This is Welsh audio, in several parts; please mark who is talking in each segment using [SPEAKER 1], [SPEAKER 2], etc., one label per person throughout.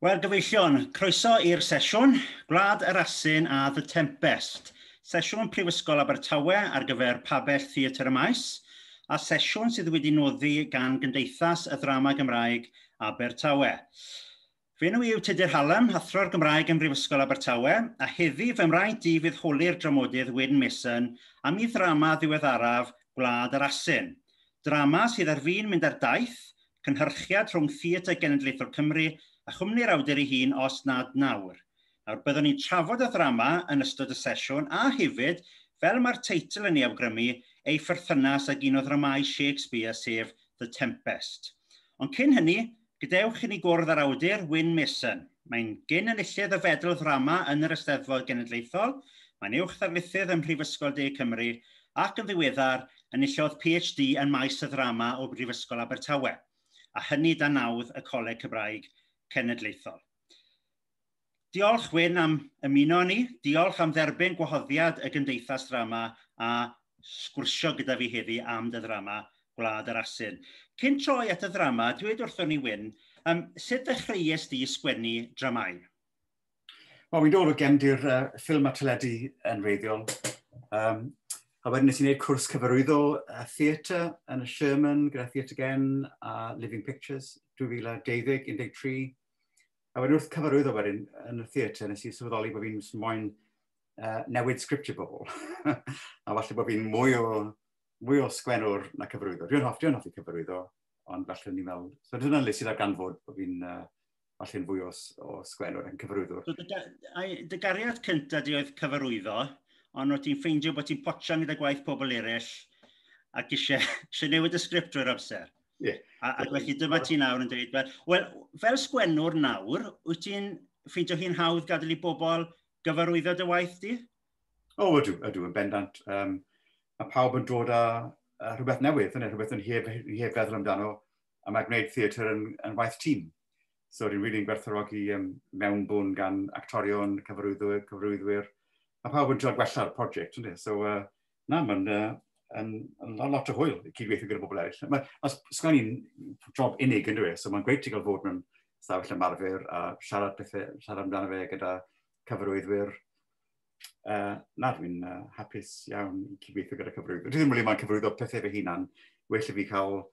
[SPEAKER 1] Wel, gyfeillion, croeso i'r sesiwn Gwlad yr Asyn a The Tempest. Sesiwn Prifysgol Abertawe ar gyfer Pabell Theatr y Maes, a sesiwn sydd wedi noddi gan Gymdeithas y Ddrama Gymraeg Abertawe. Fy enw i yw Tudur Hallam, athro'r Gymraeg ym Mhrifysgol Abertawe, a heddi fy mraint i fydd holi'r dramodydd Wyn Mason am ei ddrama ddiweddaraf Gwlad yr Asyn. Drama sydd ar fin mynd ar daith, cynhyrchiad rhwng Theatr Genedlaethol Cymru a chwmni'r awdur ei hun os nad nawr. Nawr, byddwn ni'n trafod y ddrama yn ystod y sesiwn a hefyd, fel mae'r teitl yn ei awgrymu, ei pherthynas ag un o ddramâu Shakespeare, sef The Tempest. Ond cyn hynny, gadewch i ni gwrdd â'r awdur Wyn Mason. Mae'n gyn enillydd y fedal ddrama yn yr Eisteddfod Genedlaethol, mae'n uwch ddarlithydd ym Mhrifysgol De Cymru ac yn ddiweddar enillodd PhD yn maes y ddrama o Brifysgol Abertawe, a hynny dan nawdd y Coleg Cymraeg Cenedlaethol. Diolch Wyn am ymuno â ni, diolch am dderbyn gwahoddiad y Gymdeithas Ddrama a sgwrsio gyda fi heddi am dy ddrama Gwlad yr Asyn. Cyn troi at y ddrama, dweud wrthon ni Wyn, sut ddechreuais di sgwennu dramau?
[SPEAKER 2] Wel, fi'n dod o gefndir ffilm a teledu yn wreiddiol. A wedyn nes i wneud cwrs cyfarwyddo theatr yn y Sherman gyda Theatr Gen a Living Pictures 2012-13. A wedyn wrth cyfarwyddo wedyn yn y theatr nes i sylweddoli bod fi'n moyn newid sgriptiau bobl. A falle bod fi'n mwy o sgwennwr na cyfarwyddo. Dwi'n hoffi cyfarwyddo, ond falle ni'n meddwl. So dyna le sydd ar ganfod bod fi'n falle'n fwy o sgwennwr yn cyfarwyddwr.
[SPEAKER 1] So, dy gariad cyntaf di oedd cyfarwyddo, ond o't ti'n ffeindio bod ti'n potsian gyda gwaith pobl eraill ac eisiau newid y sgript drwy'r amser.
[SPEAKER 2] Yeah.
[SPEAKER 1] Ac felly dyma ti nawr yn dweud, wel, fel sgwennwr nawr, wyt ti'n ffeindio hi'n hawdd gadael i bobl gyfarwyddo dy waith di?
[SPEAKER 2] O, ydw, yn bendant. Mae pawb yn dod â rhywbeth newydd, yna, rhywbeth yn heb feddwl amdano, a mae gwneud theatr yn waith tîm. So dwi'n rili'n gwerthfawrogi mewnbwn gan actorion, cyfarwyddwyr. Mae pawb yn dod gwella'r prosiect, ynddi? So, na, mae'n yn lot o hwyl i cydweithio gyda bobl eraill. Mae sgwennu'n job unig, ynddo e? So mae'n greit i gael fod mewn stafell ymarfer a siarad amdano fe gyda cyfarwyddwyr. Na, dwi'n hapus iawn i cydweithio gyda cyfarwyddwyr. Dwi ddim rili moyn cyfarwyddo pethau fy hunan. Well i fi cael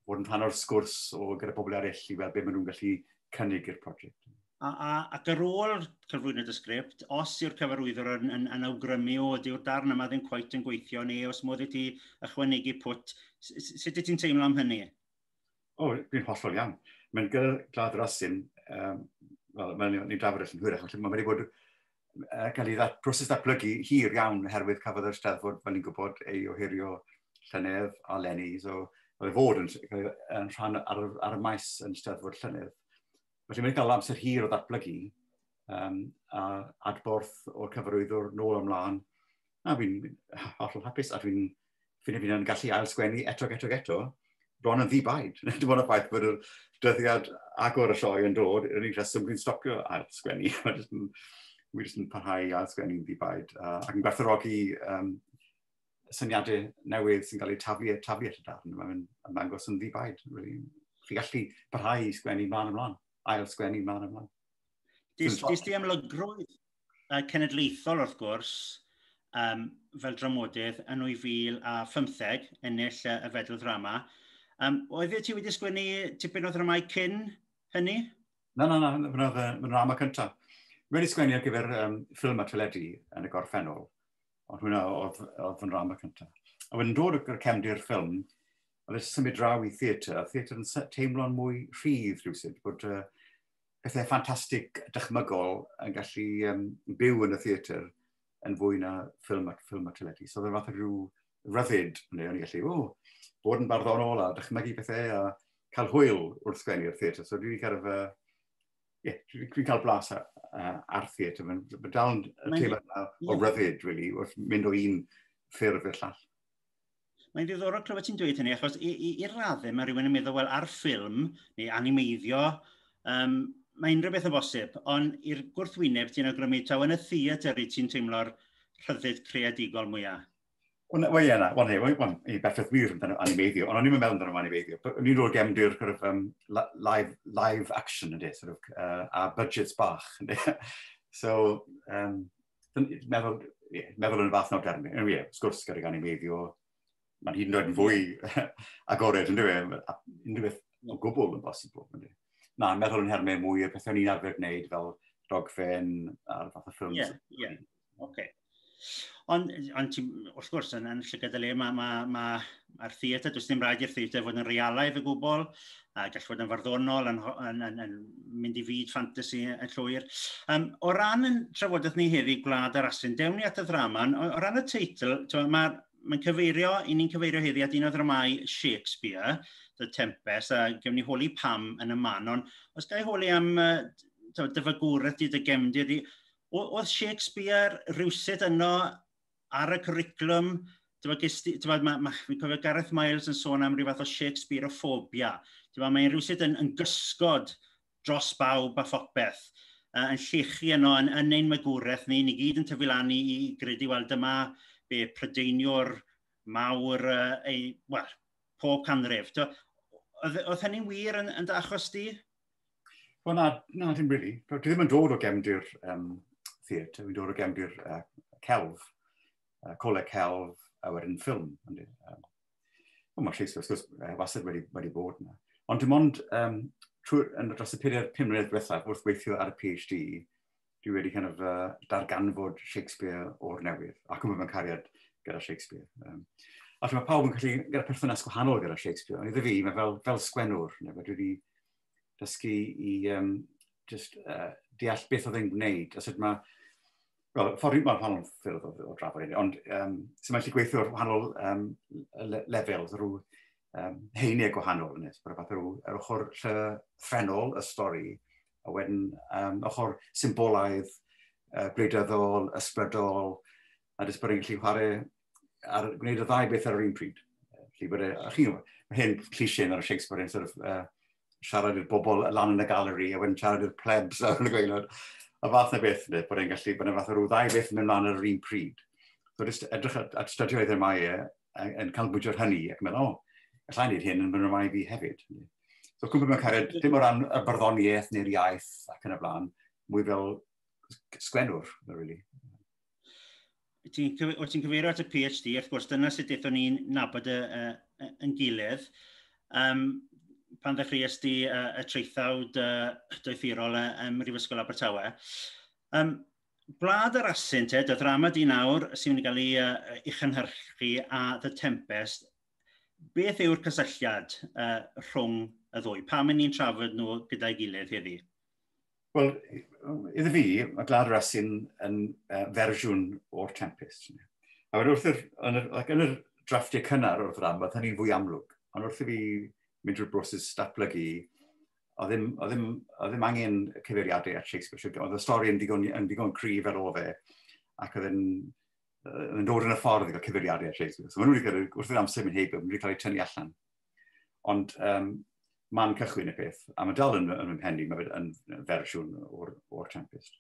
[SPEAKER 2] fod yn rhan o'r sgwrs o gyda bobl eraill i weld beth maen nhw'n gallu cynnig i'r prosiect.
[SPEAKER 1] Ac ar ôl cyflwyno dy sgript, os yw'r cyfarwyddwr yn awgrymu o, dyw'r darn yma ddim cweit yn gweithio, neu os modd i ti ychwanegu pwt, sut wyt ti'n teimlo am hynny?
[SPEAKER 2] O, dwi'n hollol iawn. Mae'n gyda Gwlad yr Asyn, wel, mae'n ni'n drafod yn hwyrach, felly mae wedi bod cael ei proses datblygu hir iawn oherwydd cafodd yr Eisteddfod, fel ni'n gwybod, ei ohirio llynedd a leni, so oedd e fod yn rhan ar y maes yn Eisteddfod llynedd. Felly mae'n cael amser hir o ddatblygu a adborth o'r cyfarwyddwr nôl ymlaen. A fi'n hollol hapus a dwi'n ffeindio fi'n gallu ail-sgwennu eto, eto, eto, bron yn ddi-baid. Dim ond y ffaith bod y dyddiad agor y sioe yn dod, yr unig rheswm dwi'n stopio ail-sgwennu. Wi jyst yn parhau i ail-sgwennu'n ddi-baid. Ac yn gwerthfawrogi syniadau newydd sy'n cael eu taflu at y darn. Mae'n ymddangos yn ddi-baid. Really. Chi gallu parhau i sgwennu mlaen ymlaen. Ail sgwennu mlaen ymlaen.
[SPEAKER 1] Dis di amlygrwydd cenedlaethol wrth gwrs, fel dramodydd yn 2015, ennill y fedal ddrama. Oeddet ti wedi sgwennu tipyn o ddramau cyn hynny?
[SPEAKER 2] Na, fy'n ddrama cyntaf. Wedi sgwennu ar gyfer ffilm a teledu yn y gorffennol, ond hwnna oedd fy ndrama cyntaf. A wedyn dod o'r cefndir ffilm, oedd e symud draw i theatr, a theatr yn teimlo'n mwy rhydd rhywsut, bod pethau ffantastig dychmygol yn gallu byw yn y theatr yn fwy na ffilm a teledu. So oedd e fath o rhyw ryddid, neu o'n i gallu, bod yn barddonol a dychmygu pethau a cael hwyl wrth sgwennu'r theatr. So dwi wedi dwi'n cael blas ar theatr. Mae'n dal yn teimlad yna o ryddid, really, wrth mynd o un ffurf i'r llall.
[SPEAKER 1] Mae'n ddiddorol clywed ti'n dweud hynny, achos i'r raddau mae rhywun yn meddwl, wel, ar ffilm neu animeiddio, mae unrhyw beth yn bosib, ond i'r gwrthwyneb ti'n awgrymu taw yn y theatr i ti'n teimlo'r rhyddid creadigol mwyaf.
[SPEAKER 2] Wel, ie, na, wel, hey, wel, i berffaith wir amdano animeiddio, ond o'n i'n meddwl amdano animeiddio. O'n i'n rhoi gefndir kind of, live action, ynddi, sort of, a budgets bach, ynddi. So, meddwl, yeah, meddwl yn y fath nawr dermau. Ie, yeah, wrth gwrs, gydag animeiddio, mae'n hyd yn oed yn fwy agored, ynddi fe? Unrhyw beth o gwbl yn bosibl. Ynddi. Na, meddwl yn hermau mwy o pethau o'n i'n arfer gwneud fel dogfen a'r fath o ffilms.
[SPEAKER 1] Ie, ie, oce. Ond ti, wrth gwrs, yn llygad y le, mae'r ma theatr, does dim rhaid i'r theatr fod yn realaidd o gwbl, a gall fod yn farddonol, yn mynd i fyd ffantasi yn llwyr. O ran yn trafodaeth ni heddi, Gwlad yr Asyn, dewn ni at y ddrama, o ran y teitl, mae'n ma cyfeirio, i ni'n cyfeirio heddi at un o ddramau Shakespeare, The Tempest, a gewn ni holi pam yn y man, ond os ga i holi am dy fagwraeth di, dy gefndir di, oedd Shakespeare rhywsut yno ar y cwricwlwm? Fi'n cofio Gareth Miles yn sôn am rhyw fath o Shakespeareophobia. Mae'n rhywsut yn gysgod dros bawb a phopeth, yn llechu yno yn ein magwraeth ni, ni gyd yn tyfu lan i gredu, wel, dyma be Prydeiniwr mawr, ei, wel, pob canrif. Oedd hynny'n wir yn dy achos di?
[SPEAKER 2] Wel, na, dim really. Dwi ddim yn dod o gefndir theatr, dwi'n dod o gefndir celf, coleg celf, a wedyn ffilm. Mae Shakespeare, wrth gwrs, wastad wedi bod yna. Ond dim ond yn dros y 4-5 mlynedd diwethaf, wrth weithio ar y PhD, dwi wedi kind of, darganfod Shakespeare o'r newydd, ac yn mewn cariad gyda Shakespeare. A mae pawb yn gallu gyda perthynas gwahanol gyda Shakespeare, ond iddo fi, mae fel sgwennwr, neu, dwi wedi dysgu i just, deall beth oedd e'n gwneud, a sut mae, wel, ffordd mae'n wahanol ffyrdd o drafod hynny, ond sut mae'n gallu gweithio ar wahanol lefels, rhyw heiniau gwahanol, ynys, bod fath rhyw, yr ochr llythrennol y stori, a wedyn ochr symbolaidd, gwleidyddol, ysbrydol, a jyst bod e'n gallu chwarae ar gwneud y ddau beth ar yr un pryd. Felly bod e, a chi'n gwybod, mae hyn cliché ar y Shakespeare yn sort of, siarad i'r bobl lan yn y galeri, a wedyn siarad i'r plebs ar y gwaelod. A fath na beth, ynde, bod e'n gallu, bod e'n fath o rhyw ddau beth yn mynd mlaen ar yr un pryd. So jyst edrych at studio ei ddrama e, yn canolbwyntio ar hynny, ac yn meddwl, o, allai wneud hyn yn fy nramau fi hefyd. So cwmpa mewn cariad, dim o ran y barddoniaeth neu'r iaith ac yn y blaen, mwy fel sgwennwr, really.
[SPEAKER 1] Wyt ti'n cyfeirio at y PhD, wrth gwrs, dyna sut aethon ni'n nabod yn gilydd. Pan ddechreuais di y traethawd doethurol ym Mhrifysgol Abertawe. Gwlad yr Asyn, te, dy ddrama di nawr sy'n mynd i gael ei chynhyrchu a The Tempest, beth yw'r cysylltiad rhwng y ddwy? Pam ni'n trafod nhw gyda'i gilydd heddi?
[SPEAKER 2] Wel, iddo fi, mae Gwlad yr Asyn yn fersiwn o'r Tempest. A wedyn wrth yr, yn yr, like, yn yr drafftiau cynnar o'r ddrama, oedd hynny'n fwy amlwg. Ond wrth i fi mynd drwy'r broses datblygu, oedd ddim angen cyfeiriadau at Shakespeare. Oedd y stori yn ddigon cryf ar ôl fe, ac oedd yn dod yn y ffordd i gael cyfeiriadau at Shakespeare. So maen nhw wedi cael, wrth i'r amser mynd heibio, maen nhw wedi cael eu tynnu allan. Ond man cychwyn y peth, a mae dal yn fy mhen i, mae fe yn fersiwn o'r Tempest.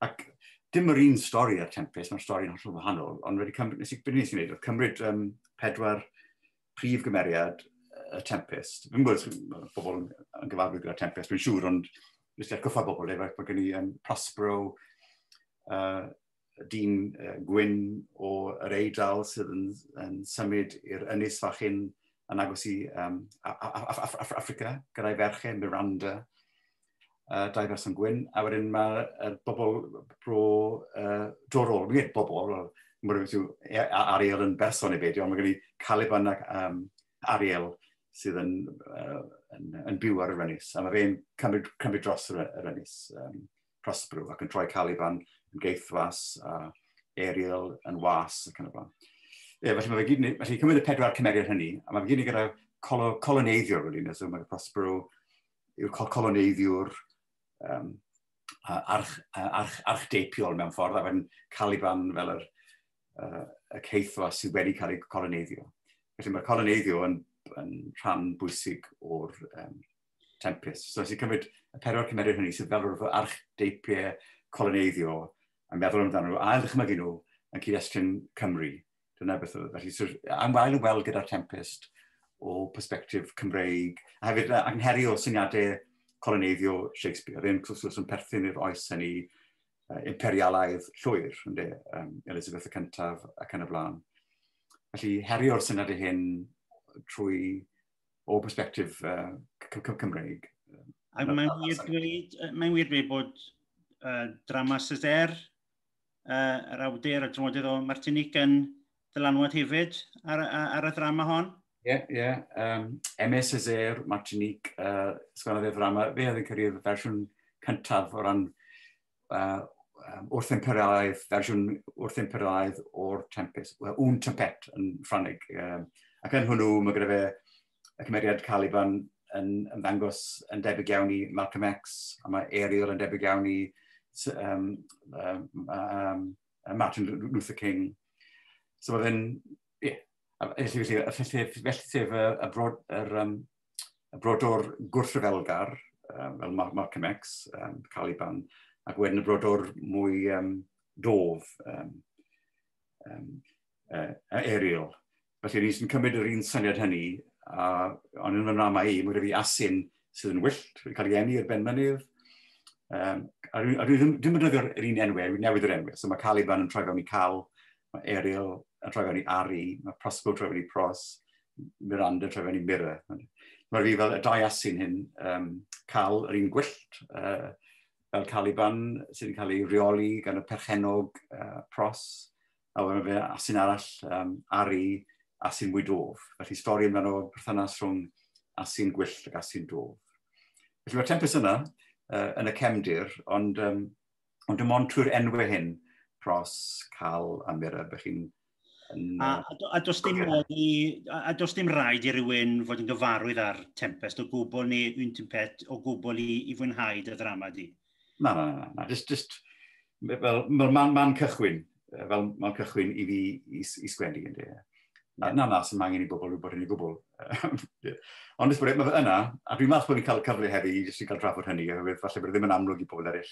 [SPEAKER 2] Ac dim yr un stori ar Tempest, mae'r stori'n hollol wahanol, ond wedi cymryd, beth nes i wneud, oedd cymryd pedwar prif gymeriad y Tempest. Fi'n gwybod os bobl yn gyfarwydd gyda Tempest, dwi'n siŵr, ond jyst i atgoffa bobl, efo, mae gen i Prospero, dyn gwyn o yr Eidal sydd yn symud i'r ynys fach hyn yn agos i Affrica, gyda'i ferchau, Miranda, dau berson gwyn, a wedyn mae'r bobl bro dorol, mi'n gweud bobl, wel, Ariel yn berson i beidio, ond mae gen i Caliban ac Ariel sydd yn byw ar yr ynys, a mae fe'n cymryd dros yr ynys, Prospero, ac yn troi Caliban yn geithwas, a Ariel yn was, ac yn y blaen. Ie, felly mae fe gyd, felly cymryd y pedwar cymeriad hynny, a mae fe gyd yn gyda coloneiddiwr, really, so mae Prospero yw'r coloneiddiwr archdeipiol mewn ffordd, a wedyn Caliban fel y caethwas sydd wedi cael ei coloneiddio. Felly mae'r coloneiddio yn rhan bwysig o'r Tempest. So nes i cymryd y pedwar cymeriad hynny sydd fel rhyw archdeipiau coloneiddio a meddwl amdano nhw, a ddychmygu nhw yn cyd-destun Cymru. Dyna beth oedd. Felly, so, am wael yn weld gyda'r Tempest o perspectif Cymreig, a hefyd ac yn herio syniadau coloneiddio Shakespeare. Oedd e'n wrth yn perthyn i'r oes hynny imperialaidd llwyr, ynde, Elizabeth y Cyntaf ac yn y blaen. Felly, herio'r syniadau hyn trwy o perspectif Cymreig.
[SPEAKER 1] A mae'n wir dweud bod drama Césaire, yr awdur, y dramodydd o Martinique yn dylanwad hefyd ar y ddrama hon?
[SPEAKER 2] Ie, yeah, ie. Yeah. Aimé Césaire, Martinique, sgwennodd e ddrama. Fe oedd yn cyrraedd y fersiwn cyntaf o ran wrth imperialaidd, fersiwn wrth imperialaidd o'r Tempest, well, Une Tempête yn Ffrangeg. Ac yn hwnnw, mae gyda fe y cymeriad Caliban yn ymddangos yn debyg iawn i Malcolm X, a mae Ariel yn debyg iawn i Martin Luther King. So mae fe'n, ie, yeah, felly sef y brodor gwrthryfelgar, fel Malcolm X, Caliban, ac wedyn y brodor mwy dof, Ariel. Felly ni sy'n cymryd yr un syniad hynny, a, ond yn y nrama i, mae fi asyn sydd yn wyllt, wedi cael ei eni ar ben mynydd. A dwi ddim yn defnyddio'r un enwau, dwi'n newid yr enwau. So mae Caliban yn troi fewn i Cal, mae Ariel yn troi fewn i Ari, mae Prospero yn troi fewn i Pros, Miranda yn troi fewn i Mira. Mae fi fel y dau asyn hyn, cael yr un gwyllt, fel Caliban sydd yn cael ei reoli gan y perchenog Pros, a wedyn fe asyn arall, Ari, asyn mwy dof. Felly stori amdano perthynas rhwng asyn gwyllt ac asyn dof. Felly mae'r Tempest yna yn y cefndir, ond dim ond trwy'r enwau hyn, Pros, Cal a Mira, bych chi'n
[SPEAKER 1] yn, a does dim rhaid i rywun fod yn gyfarwydd ar Tempest o gwbl neu Une Tempête o gwbl i fwynhau dy ddrama di?
[SPEAKER 2] Na, na, na, na. Just fel man cychwyn i fi i sgwennu. Ynddi. Na, na, na, sy'n angen i bobl wybod hynny gwbl. Ond ys bod mae fe yna, a dwi'n meddwl bod ni'n cael cyfle heddi i jyst i gael trafod hynny, oherwydd falle bod e ddim yn amlwg i bobl eraill.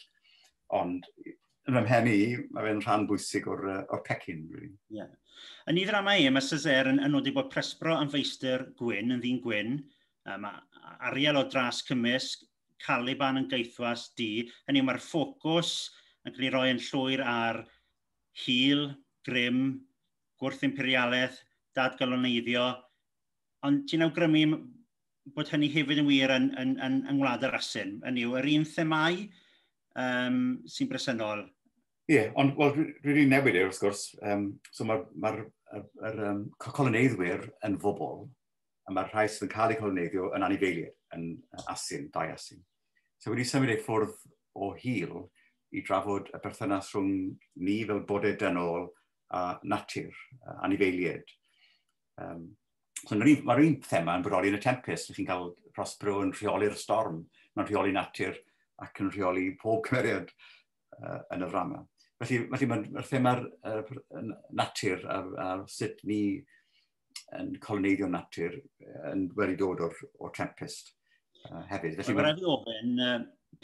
[SPEAKER 2] Ond yn fy mhen i, mae fe'n rhan bwysig o'r pecyn. Really.
[SPEAKER 1] Yeah. Yn ei ddrama e, mae Césaire yn nodi bod Prospero yn feistr gwyn, yn ddyn gwyn, mae Ariel o dras cymysg, Caliban yn gaethwas du. Hynny yw, mae'r ffocws yn cael ei roi yn llwyr ar hil, grym, gwrth-imperialaeth, dadgoloneiddio, ond ti'n awgrymu bod hynny hefyd yn wir yn Ngwlad yr Asyn. Hynny yw, yr un themau sy'n bresennol.
[SPEAKER 2] Ie, yeah, ond well, dwi wedi newid e, wrth gwrs. So mae'r ma coloneiddwyr yn fobl, a mae'r rhai sydd yn cael eu coloneiddio yn anifeiliaid, yn asyn, dau asyn. So wedi symud ei ffwrdd o hil i drafod y berthynas rhwng ni fel bodau dynol a natur, anifeiliaid. So mae'r un thema yn bodoli yn y Tempest. Chi'n cael Prospero yn rheoli'r storm, mae'n rheoli natur ac yn rheoli pob cymeriad yn y ddrama. Felly mae'r thema'r natur a sut ni yn coloneiddio natur yn wedi dod o'r Tempest hefyd.
[SPEAKER 1] Felly mae'n rhaid i ofyn,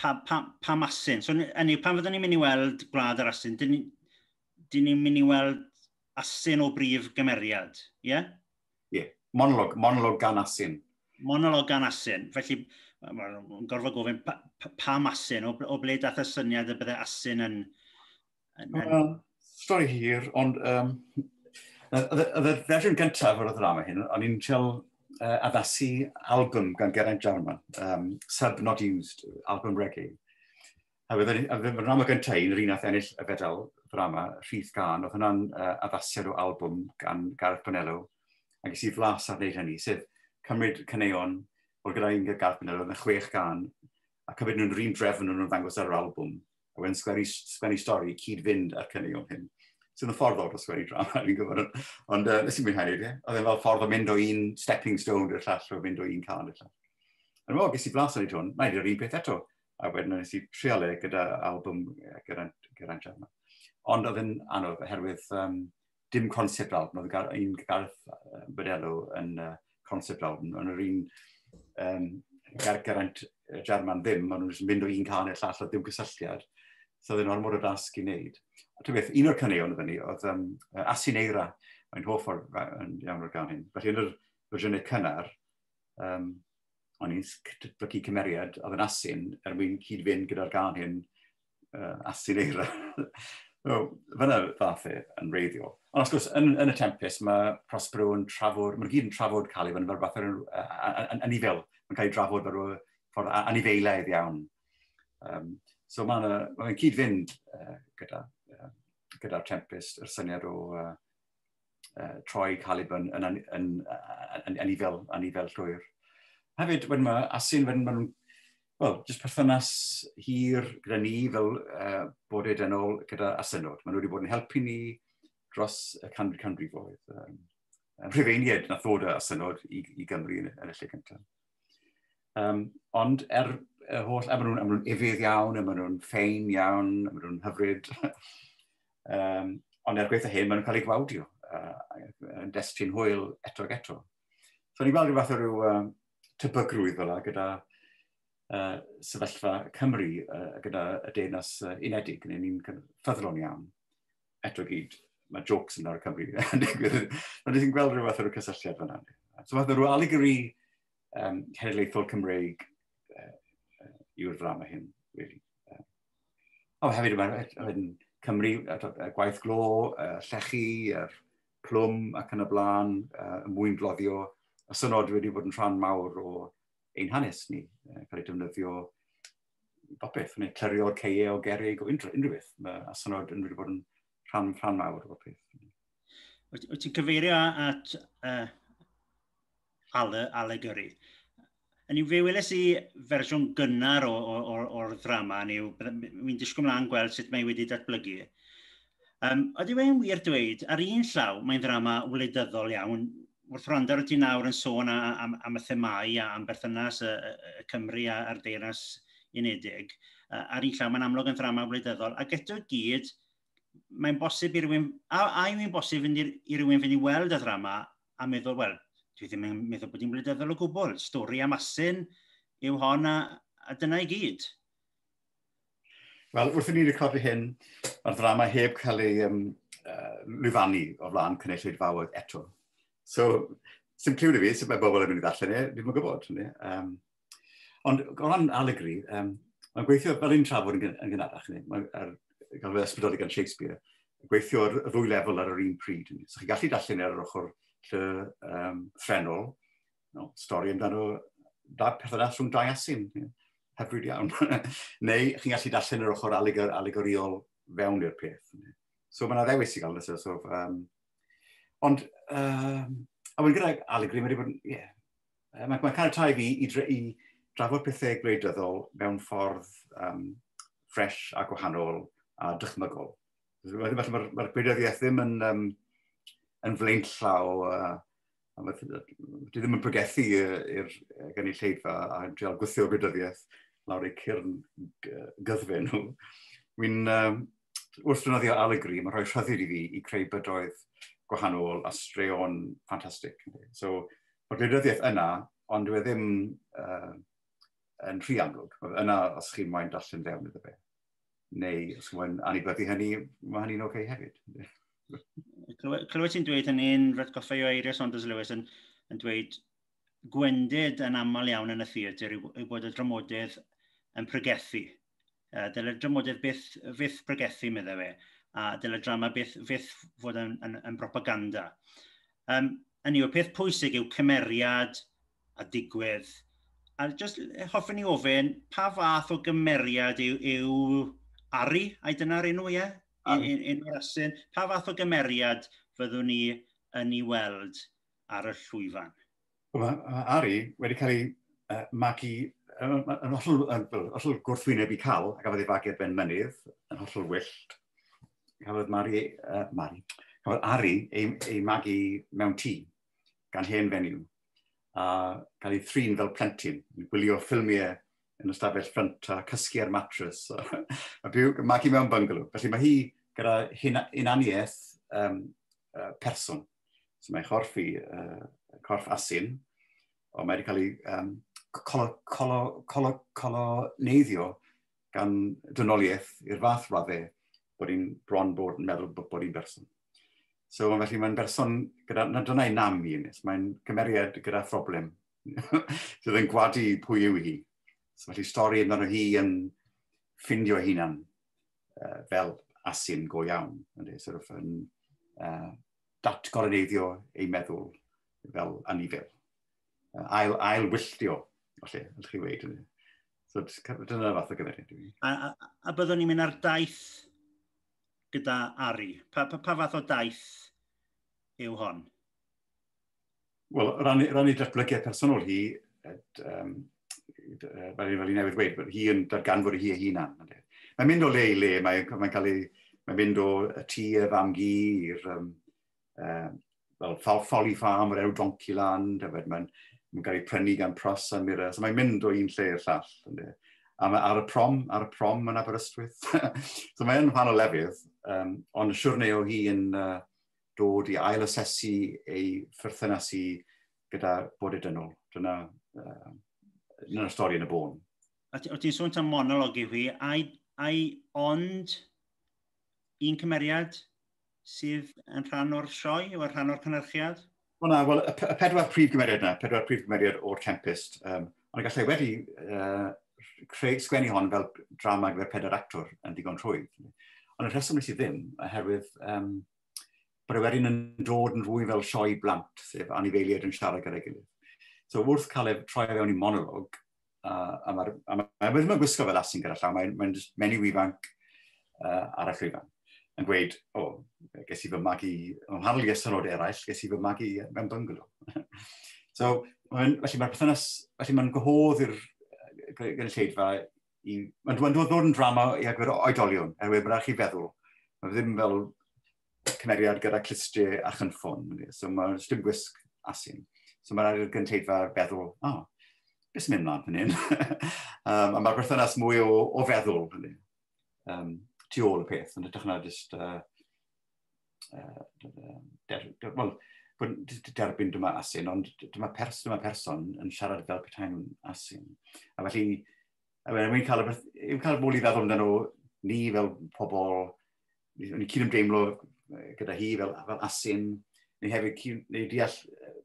[SPEAKER 1] pa asyn? So, hynny, pan fyddwn ni'n mynd i weld Gwlad yr Asyn, dyn ni'n mynd i weld asyn o brif gymeriad, ie? Yeah?
[SPEAKER 2] Ie, yeah. Monolog gan asyn.
[SPEAKER 1] Monolog gan asyn. Felly, mae'n gorfod gofyn, pa asyn, o ble dath y syniad y bydde asyn yn?
[SPEAKER 2] Well, stori hir, ond y fersiwn gyntaf o'r ddrama hyn, o'n i'n treial addasu album gan Geraint Jarman, Sub Not Used, album reggae. A y ddrama gyntaf un, yr un nath ennill y fedal ddrama, Rhith Gân, oedd hwnna'n addasiad o album gan Gareth Bonello, a ges i flas ar wneud hynny, sef cymryd caneuon, oedd gyda un Gareth Bonello, oedd yn 6 gân, a cymryd nhw'n yr un drefn nhw'n ddangos ar yr album, a wedyn sgwennu stori cyd-fynd â'r caneuon hyn. Sydd yn ffordd od o sgwennu drama, fi'n gwybod. Ond nes i'n mwynhau ie. Oedd e'n fel ffordd o mynd o un stepping stone i'r llall, o mynd o un cân i'r llall. Ond wel, ges i flas ar ei hwn, mae'n yr un peth eto. A wedyn nes i trial e gyda album Geraint Jarman. Ond oedd yn anodd oherwydd dim concept album, oedd un Gareth Bonello yn concept album, ond yr un Geraint Jarman ddim, ond nhw'n mynd o un cân i'r llall, oedd ddim cysylltiad. So oedd yn ormod o dasg i wneud. A ti'n beth, un o'r caneuon fyny oedd Asyn Eira. Mae'n hoff o'r, iawn o'r gan hyn. Felly yn yr fersiynau cynnar, o'n i'n datblygu cymeriad oedd yn asyn er mwyn cyd-fynd gyda'r gan hyn, asyn eira. So, fyna ddath e yn reiddiol. Ond wrth gwrs, yn y Tempest, mae Prospero yn trafod, mae'n gyd yn trafod Caliban fel fath o'r anifel. Mae'n cael ei drafod fel rhyw ffordd anifeilaidd iawn. So mae'n ma cyd-fynd gyda'r Tempest, yr syniad o troi Caliban yn anifel, anifel llwyr. Hefyd, wedyn mae Asyn, wedyn maen nhw'n, wel, jyst perthynas hir gyda ni fel bodau dynol gyda asynod. Maen nhw wedi bod yn helpu ni dros y canrifoedd. Rhufeiniaid nath ddod â asynod i Gymru yn y lle cyntaf. Ond er y holl, a maen nhw'n ufudd iawn, a maen nhw'n ffein iawn, a maen nhw'n hyfryd. Ond er gwaetha hyn, maen nhw'n cael eu gwawdio yn destun hwyl eto ac eto. So ni'n gweld rhyw fath o ryw tebygrwydd fel gyda sefyllfa Cymru gyda y Deyrnas Unedig, neu ni'n ffyddlon iawn. Eto gyd, mae jokes yn ar y Cymru yn digwydd. Ond ni'n gweld rhyw fath o ryw cysylltiad fyna. So fath o ryw alegori cenedlaethol Cymreig yw'r ddrama hyn, really. O, hefyd, mae'n Cymru, gwaith glo, llechi, yr plwm ac yn y blaen, y mwyn gloddio. Y synod wedi bod yn rhan mawr o ein hanes ni, cael ei defnyddio bopeth, neu clirio'r ceie o gerrig o unrhyw beth. Mae asynod yn wedi bod yn rhan mawr o bopeth.
[SPEAKER 1] Wyt ti'n cyfeirio at allegory? Yn yw, fe weles i fersiwn gynnar o'r ddrama, neu fi'n disgwyl mlaen gweld sut mae wedi datblygu. Ydy fe'n wir dweud, ar un llaw, mae'n ddrama wleidyddol iawn. Wrth wrando ar ti nawr yn sôn am y themâu a am berthynas y Cymru a'r Deyrnas Unedig, ar un llaw mae'n amlwg yn ddrama wleidyddol, ac eto gyd, mae'n bosib i rywun, a yw'n bosib i rywun fynd i weld y ddrama a meddwl, wel, dwi ddim yn meddwl bod hi'n wleidyddol o gwbl. Stori am asyn yw hon a dyna i gyd.
[SPEAKER 2] Wel, wrth i ni recordio hyn, mae'r ddrama heb cael ei lwyfannu o flaen cynulleidfaoedd eto. So, sy'n cliw i fi, sut mae bobl yn mynd i ddarllen e, ddim yn gwybod. Ond o ran alegori, mae'n gweithio fel un trafod yn gynharach, mae'n gael ei ysbrydoli gan Shakespeare, gweithio ar y ddwy lefel ar yr un pryd. So chi'n gallu darllen ar yr ochr lle threnol, no, stori amdano perthynas rhwng dau asyn, hyfryd iawn. Neu chi'n gallu darllen yr ochr alegoriol fewn i'r peth. So mae yna ddewis i gael. So, ond, a wedyn gyda alegori, mae wedi bod yn, yeah, mae caniatáu fi i drafod pethau gwleidyddol mewn ffordd fresh a gwahanol a dychmygol. Felly mae'r gwleidyddiaeth ddim yn flaenllaw, dwi ddim yn pregethu i'r gynulleidfa a drial gwthio gwleidyddiaeth lawr eu cyrn gyddfe nhw. Wy'n, wrth ddefnyddio alegori, mae'n rhoi rhyddid i fi i creu bydoedd gwahanol a straeon ffantastig. So, mae'r gwleidyddiaeth yna, ond dwi e ddim yn rhy amlwg. Mae yna os chi'n moyn darllen fewn iddo fe. Neu os chi'n moyn anibyddu hynny, mae hynny'n oce hefyd.
[SPEAKER 1] Clywed ti'n dweud hynny'n rhatgoffa o eiriau Saunders Lewis yn dweud gwendid yn aml iawn yn y theatr yw bod y dramodydd yn pregethu. Dyle dramodydd byth, fyth pregethu, meddai fe, a dyle drama byth, fyth fod yn propaganda. Hynny yw, peth pwysig yw cymeriad a digwydd. A just hoffwn i ofyn, pa fath o gymeriad yw Ari? Ai dyna'r enw, ie? Enw'r asyn. Pa fath o gymeriad fyddwn ni yn ei weld ar y llwyfan?
[SPEAKER 2] Mae Ari wedi cael ei magu yn hollol gwrthwyneb i Cal, a gafodd ei fagu ar ben mynydd, yn hollol wyllt. Cafodd cafodd Ari ei magu mewn tŷ gan hen fenyw, a cael ei thrin fel plentyn, yn gwylio ffilmiau yn ystafell ffrynt a cysgu ar mattress, a byw, magu mewn bungalow. Felly mae hi gyda hunaniaeth person. So mae chorff i, corff asyn, ond mae wedi cael ei coloneiddio gan dynoliaeth i'r fath raddau bod hi'n bron bod yn meddwl bod hi'n berson. So felly mae'n berson gyda, na dyna ei nam i, mae'n cymeriad gyda phroblem sydd yn gwadu pwy yw hi. So felly stori amdano hi yn ffindio hunan fel asyn go iawn. Ynddi, sort of yn datgoloneiddio ei meddwl fel anifel. Ail wylltio, falle, ydych chi weud. So dyna fath o gymeriad i fi.
[SPEAKER 1] A byddwn ni'n mynd ar daith gyda Ari. Pa fath o daith yw hon?
[SPEAKER 2] Wel, ran ei datblygiad personol hi, fel i newydd dweud, bod hi yn darganfod hi ei hunan. Mae'n mynd o le i le, mae'n mynd o y tŷ y fam-gu i'r well, Folly Farm o'r enw Donkeyland, a mae'n cael ei prynu gan Pruss a Mira. So mae'n mynd o un lle i'r llall. Ynddi. A mae ar y prom yn Aberystwyth. So mae'n rhan o lefydd, ond siwrne o hi yn dod i ail-asesu ei pherthynas hi gyda bod dynol. Dyna'r stori yn y bôn.
[SPEAKER 1] A ti'n sôn am monolog yw hi, ai ond un cymeriad sydd yn rhan o'r sioe o rhan o'r cynhyrchiad?
[SPEAKER 2] Wel na, wel, y pedwar prif gymeriad yna, pedwar prif gymeriad o'r Tempest, ond gallai wedi creu, sgwennu hon fel drama gyfer pedwar actor yn ddigon rhwydd. Ond y rheswm nes i ddim, oherwydd bod e wedyn yn dod yn fwy fel sioe blant, sef anifeiliaid yn siarad gyda'i gilydd. So wrth cael ei troi fewn i monolog, a mae'r ma, ma, ddim yn gwisgo fel asyn gyda llaw, mae'n just menyw ifanc ar y llwyfan yn gweud, "O, oh, ges i fy magu, yn wahanol i asynnod eraill, ges i fy magu mewn bungalow." So, felly mae'r perthynas, felly mae'n gwahodd i'r gynulleidfa i, mae'n dod yn drama i agor oedolion, erwydd mae'n rhaid chi feddwl. Mae ddim fel cymeriad gyda clustiau a chynffon. So mae'n dim gwisg asyn. So mae'n rhaid i'r gynulleidfa feddwl, "O, oh, beth sy'n mynd mlaen fan hyn?" A mae'r perthynas mwy o feddwl hynny, tu ôl y peth, yn hytrach na just, well, derbyn dyma asyn, ond dyma person yn siarad fel petai nhw'n asyn. A felly, a cael mwy i feddwl amdano ni fel pobl, ni'n cyd-ymdeimlo gyda hi fel asyn, neu hefyd neu deall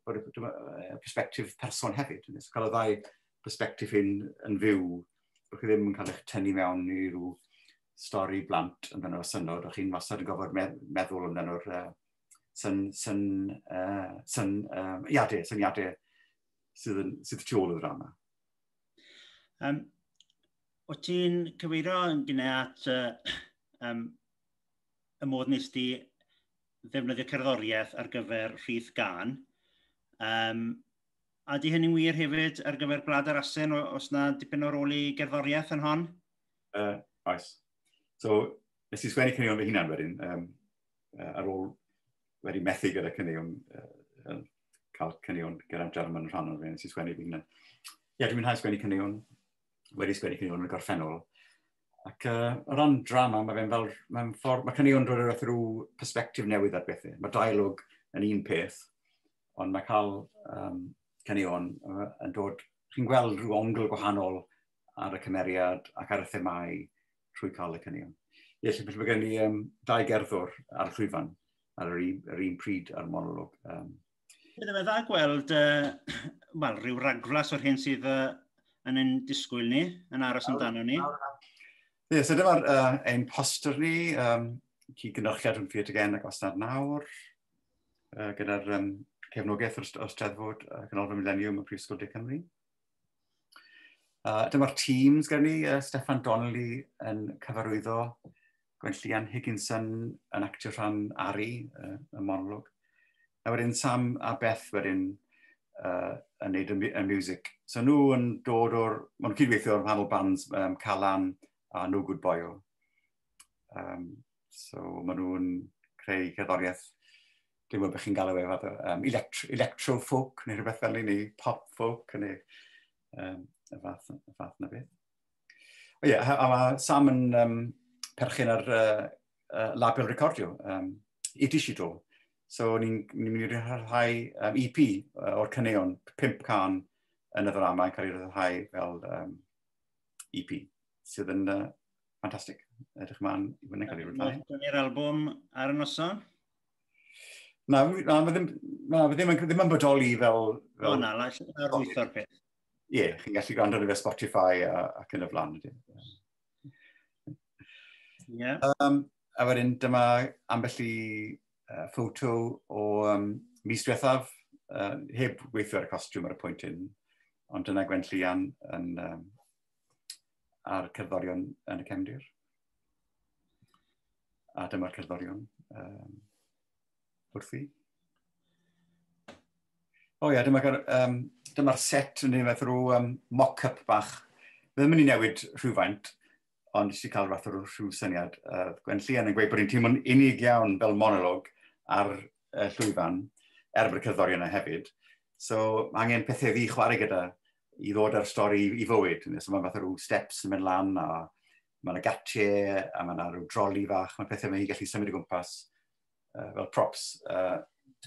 [SPEAKER 2] bod y perspectif person hefyd. So cael y ddau perspectif hyn yn fyw, bod chi ddim yn cael eich tynnu mewn i ryw stori blant amdano asynnod, o'ch chi'n wastad yn gofod meddwl amdano'r syniadau sydd tu ôl y ddrama.
[SPEAKER 1] O ti'n cyfeirio yn gynnau at y modd nes di ddefnyddio cerddoriaeth ar gyfer rhith gan. A di hynny'n wir hefyd ar gyfer Gwlad yr Asyn, os na dipyn o rôl i gerddoriaeth yn hon?
[SPEAKER 2] Oes. So, nes i sgwennu caneuon fy hunan wedyn, ar ôl wedi methu gyda caneuon, cael caneuon gyda'r German yn rhan o'r fe, nes i sgwennu fy hunan. Ie, yeah, dwi'n mwynhau sgwennu caneuon, wedi sgwennu caneuon yn y gorffennol. Ac o ran drama, mae fe'n fel, mae'n ffordd, mae caneuon dod o'r rhyw perspectif newydd ar bethau. Mae dialog yn un peth, ond mae cael caneuon yn dod, chi'n gweld rhyw ongl gwahanol ar y cymeriad ac ar y themau trwy cael y caneuon. Ie, lle mae gen i dau gerddor ar y llwyfan ar yr un pryd ar monolog.
[SPEAKER 1] Bydde fe dda gweld wel, rhyw ragflas o'r hyn sydd yn ein disgwyl ni, yn aros amdano ni.
[SPEAKER 2] Ie, yeah, so dyma'r ein poster ni, cyd-gynhyrchiad rhwng Theatr Gen ac Wastad Nawr, gyda'r cefnogaeth o'r Steddfod Canolfan Millennium y Prifysgol De Cymru. Dyma'r teams gyda ni, Steffan Donnelly yn cyfarwyddo, Gwenllian Higginson yn actio rhan Ari, y monolog. A wedyn Sam a Beth wedyn yn neud y music. So nhw yn dod o'r... Maen nhw'n cydweithio o'r wahanol bands, Calan a No Good Boyo. So maen nhw'n creu cerddoriaeth, dwi'n gwybod beth chi'n galw e, fath o electro folk neu rhywbeth fel neu pop folk neu y fath na beth. O ie, yeah, a mae Sam yn perchen ar label recordio, Idishito. So ni'n ni mynd i rhyddhau EP o'r caneuon, pump can yn y ddrama yn cael ei rhyddhau fel EP, sydd yn ffantastig. Edrych ymlaen i fyny cael ei rhyddhau.
[SPEAKER 1] Dyna'r albwm ar y noson?
[SPEAKER 2] Na, na, mae ddim, na, mae ddim, ddim yn bodoli fel.
[SPEAKER 1] O na, lawrlwytho'r peth.
[SPEAKER 2] Ie, yeah, chi'n gallu gwrando arno fe Spotify ac yn y blaen.
[SPEAKER 1] Ie.
[SPEAKER 2] A wedyn dyma ambell i ffoto o mis diwethaf, heb weithio ar y costiwm ar y pwynt hyn, ond dyna Gwen Llian yn, a'r cerddorion yn y cefndir. A dyma'r cerddorion wrthi. O ie, dyma'r set yn ei fath rhyw mock-up bach. Fe ddim yn ei newid rhywfaint, ond eisiau cael fath o rhyw syniad. Gwen Llian yn gweud bod hi'n teimlo'n unig iawn fel monolog ar llwyfan, er bod y cerddorion yna hefyd. So, mae angen pethau fi chwarae gyda i ddod â'r stori i fywyd. So, mae fath o rhyw steps yn mynd lan, a mae yna gatiau, a mae yna rhyw droli fach, mae pethau mae hi'n gallu symud o gwmpas fel props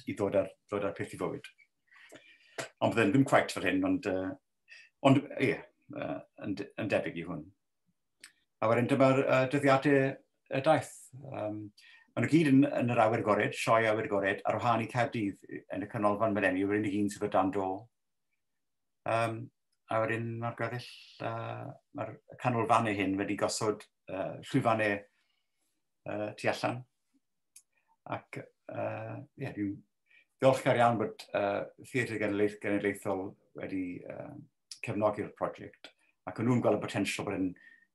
[SPEAKER 2] i ddod â'r peth i fywyd. Ond bydde'n ddim quite fel hyn, ond ie, yn debyg i hwn. A wedyn dyma'r dyddiadau y daith. Maen nhw gyd yn yr awyr agored, sioe awyr agored, ar wahân i Caerdydd yn y Canolfan Millennium, yw'r unig un sydd o dan do. A wedyn mae'r gweddill, mae'r canolfannau hyn wedi gosod llwyfannau tu allan. Ac yeah, dwi'n ddiolchgar iawn bod Theatr Genedlaethol wedi cefnogi'r prosiect. Ac o'n nhw'n gweld y potensial bod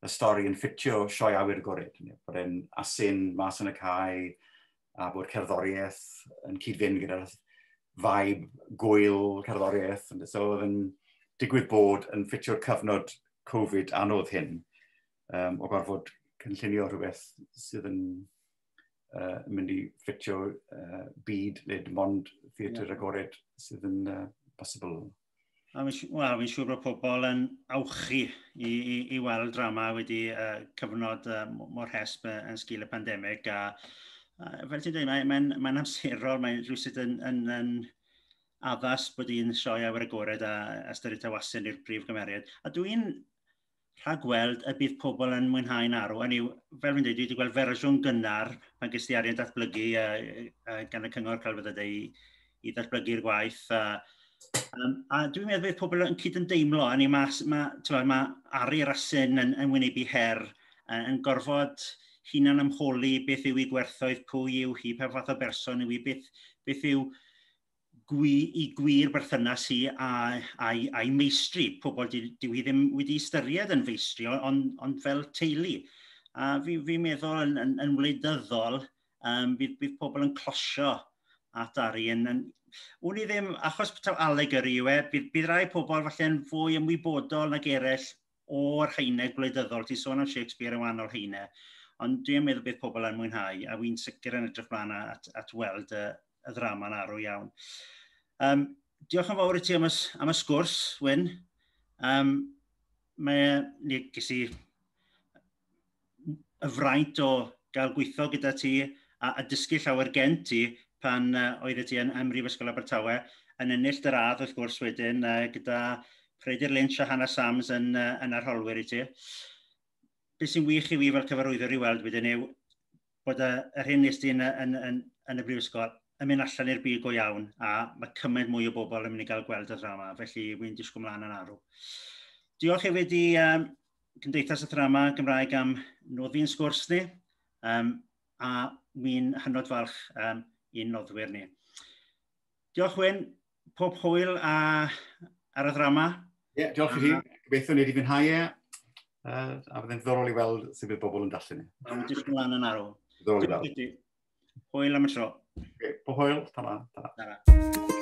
[SPEAKER 2] y stori yn ffitio sioe awyr agored. Bod e'n asyn mas yn y cae a bod cerddoriaeth yn cyd-fynd gyda'r vibe gwyl cerddoriaeth. So oedd yn digwydd bod yn ffitio'r cyfnod Covid anodd hyn o gorfod cynllunio rhywbeth sydd yn mynd i ffitio byd le dim ond theatr agored sydd yn bosibl.
[SPEAKER 1] A fi'n wel, fi siŵr bod pobl yn awchu i weld drama wedi cyfnod mor hesb yn sgil y pandemig. A fel ti'n dweud, mae amserol, mae'n rhywsut yn addas bod hi'n sioe awyr agored a ystyried taw asyn i'r prif gymeriad. A dwi'n rhagweld y bydd pobl yn mwynhau'n arw. Hynny yw, fel fi'n dweud, dwi wedi gweld fersiwn gynnar pan ges i arian datblygu gan y Cyngor Celfyddydau i ddatblygu'r gwaith. A dwi'n meddwl bydd pobl yn cyd-ymdeimlo. Hynny ma Ari Asyn yn wynebu her, yn gorfod hunan ymholi beth yw ei gwerthoedd, pwy yw hi, pa fath o berson yw hi, beth yw i gwir berthynas hi a'i meistri. Pobl dyw hi ddim wedi ystyried yn feistri, ond fel teulu. A fi meddwl yn wleidyddol, bydd pobl yn closio at Ari. Wn i ddim, achos taw allegory yw e, bydd rai pobl falle'n fwy ymwybodol nag eraill o'r haenau gwleidyddol. Ti'n sôn am Shakespeare yn wahanol haenau, ond dwi'n meddwl bydd pobl yn mwynhau, a wy'n sicr yn edrych mlaen at weld y ddrama'n arw iawn. Diolch yn fawr i ti am y sgwrs, Wyn. Mae, ges i y fraint o gael gweithio gyda ti a dysgu llawer gen ti pan oeddet ti yn Mhrifysgol Abertawe, yn ennill dy radd wrth gwrs wedyn gyda Peredur Lynch a Hannah Sams yn arholwyr i ti. Beth sy'n wych i fi fel cyfarwyddwr i weld wedyn yw bod yr hyn nes ti yn y brifysgol yn mynd allan i'r byd go iawn, a mae cymaint mwy o bobl yn mynd i gael gweld y ddrama, felly wy'n disgwyl mlaen yn arw. Diolch hefyd i Cymdeithas y Ddrama Gymraeg am noddi'n sgwrs ni, a wy'n hynod falch i'n noddwyr ni. Diolch, Wyn, pob hwyl ar y ddrama.
[SPEAKER 2] Ie, yeah, diolch i chi. Gobeithio ni wedi fwynhau e. A byddai'n ddiddorol i weld sut bydd bobl yn darllen e.
[SPEAKER 1] Mae'n disgwyl mlaen yn arw.
[SPEAKER 2] Diddorol i weld.
[SPEAKER 1] Hwyl am y tro.
[SPEAKER 2] Okay, pob hwyl. Ta-ra. Ta-ra.
[SPEAKER 1] Ta-ra.